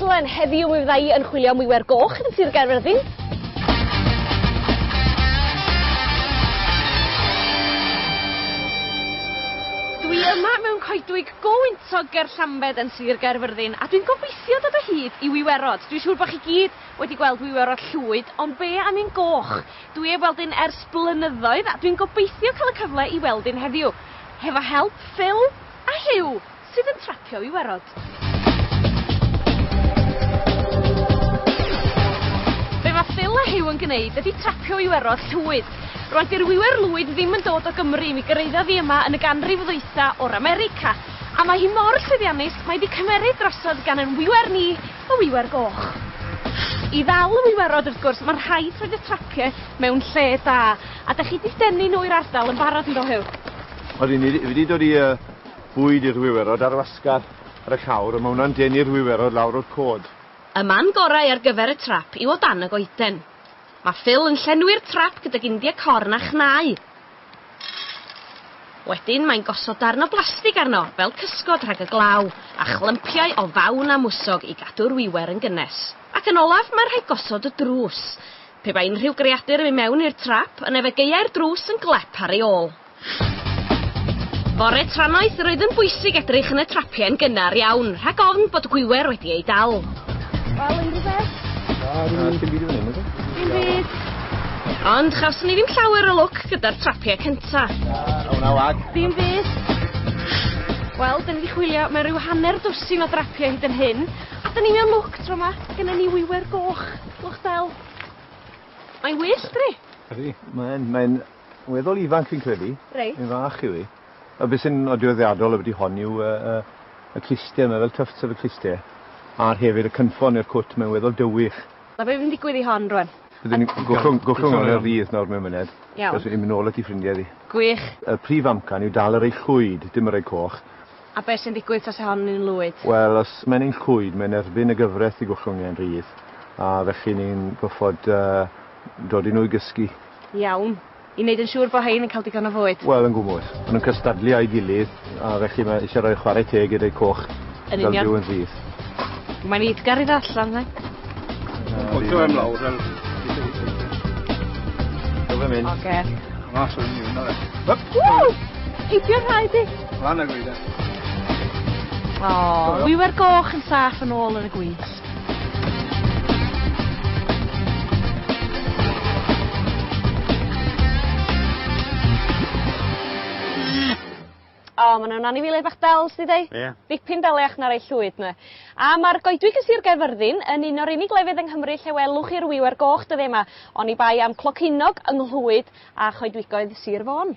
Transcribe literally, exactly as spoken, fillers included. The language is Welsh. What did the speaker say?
rhaglen. Heddiw mi fydda i yn chwilio am wiwer goch yn Sir Gaerfyrddin. Dwi yma mewn coedwig go wyntog ger Llambed yn Sir Gaerfyrddin a dwi'n gobeithio dod o hyd i wiwerod. Dwi'n siŵr bod chi gyd wedi gweld wiwerod llwyd, ond be am un goch? Dwi heb weld un ers blynyddoedd a dwi'n gobeithio cael y cyfle i weld un heddiw. Hefo help Phil a Huw sydd yn trapio wiwerod. Be mae Phil a Huw yn gwneud ydy trapio wiwerod llwyd. Rwan, di'r wiwer lwyd ddim yn dod o Gymru, mi gyrraeddodd hi yma yn y ganrif ddwytha o'r America. A mae hi mor llwyddiannus, mae wedi cymeryd drosodd gan yn wiwer ni, y wiwer goch. I ddal y wiwerod, wrth gwrs, mae'n rhaid rhoid y trapiau mewn lle da. A da chi wedi denu nhw i'r ardal yn barod yn do, Huw? Odi, ni wedi dod i uh, bwyd i'r wiwerod ar wasgar ar y llawr, a mae hwnna'n denu'r wiwerod lawr o'r cod. Y man gorau ar gyfer y trap yw o dan y goeden. Mae Phil yn llenwi'r trap gydag India corn a chnau. Wedyn mae'n gosod darn o blastig arno, fel cysgod rhag y glaw, a chlympiau o fawn a mwsog i gadw'r wiwer yn gynnes. Ac yn olaf, mae'n rhaid gosod y drws. Pe bai unrhyw greadur yn mynd mewn i'r trap, yna fe gaeai'r drws yn glep ar ei ôl. Fore trannoeth, roedd yn bwysig edrych yn y trapiau yn gynnar iawn, rhag ofn bod gwiwer wedi ei dal. Wel, unrhyw beth? Na, dim byd i fan hyn, oes e? Dim byd. Ond chawson ni ddim llawer o lwc gyda'r trapiau cynta. Na, hwnna wag. Dim byd. Wel, dyn ni wedi chwilio, mae rhyw hanner dwsin o drapiau hyd yn hyn. A dyn ni mewn lwc tro yma, gynna ni wiwer goch, lwch del. Mae'n wyllt, dri? Ydy, mae'n mae'n weddol ifanc fi'n credu. Reit. Mae'n fach yw hi. A beth sy'n nodweddiadol ambyti hon yw uh, uh, y clustiau, mae fel tufts ar y clustiau. A'r hefyd y cynffon i'r cwt, mae'n weddol dywych. Na be fy'n digwydd i hon rwan? Byddwn ni'n gollwng gollwng hwn ar ddydd nawr mewn munud. Iawn. Cos i'n mynd nôl at 'i ffrindiau ddi. Gwych. Y prif amcan yw dal yr ei llwyd, dim yr ei coch. A be sy'n digwydd tase hon yn lwyd? Wel, os mae'n un llwyd, mae'n erbyn y gyfraith i gollwng e'n rhydd. A felly ni'n goffod uh, dod i nhw i gysgu. Iawn. I wneud yn siŵr bod hein yn cael digon o fwyd. Wel, yn gwmws. Maen nhw'n cystadlu â'i gilydd, a felly mae eisiau rhoi chwarae teg i'r ei coch. Yn union. Fel byw yn rhydd. Mae'n eiddgar i ddod allan, ne? Pwtio em lawr fel... Do fe mynd. Oce. Mas o'n i hwnna fe. Ww! Heibio'r rhaid i. Lan y gwyde. O, wiwer goch yn saff yn ôl yn y gwynt. O, ma' nw'n anifeiliaid bach del, sdi deu? Ie. Dipyn deliach na rei llwyd 'ne. A ma'r goedwig yn Sir Gaerfyrddin yn un o'r unig lefydd yng Nghymru lle welwch chi'r wiwer goch dyddia' 'ma oni bai am clocynog yng Nghlwyd a choedwigoedd Sir Fôn.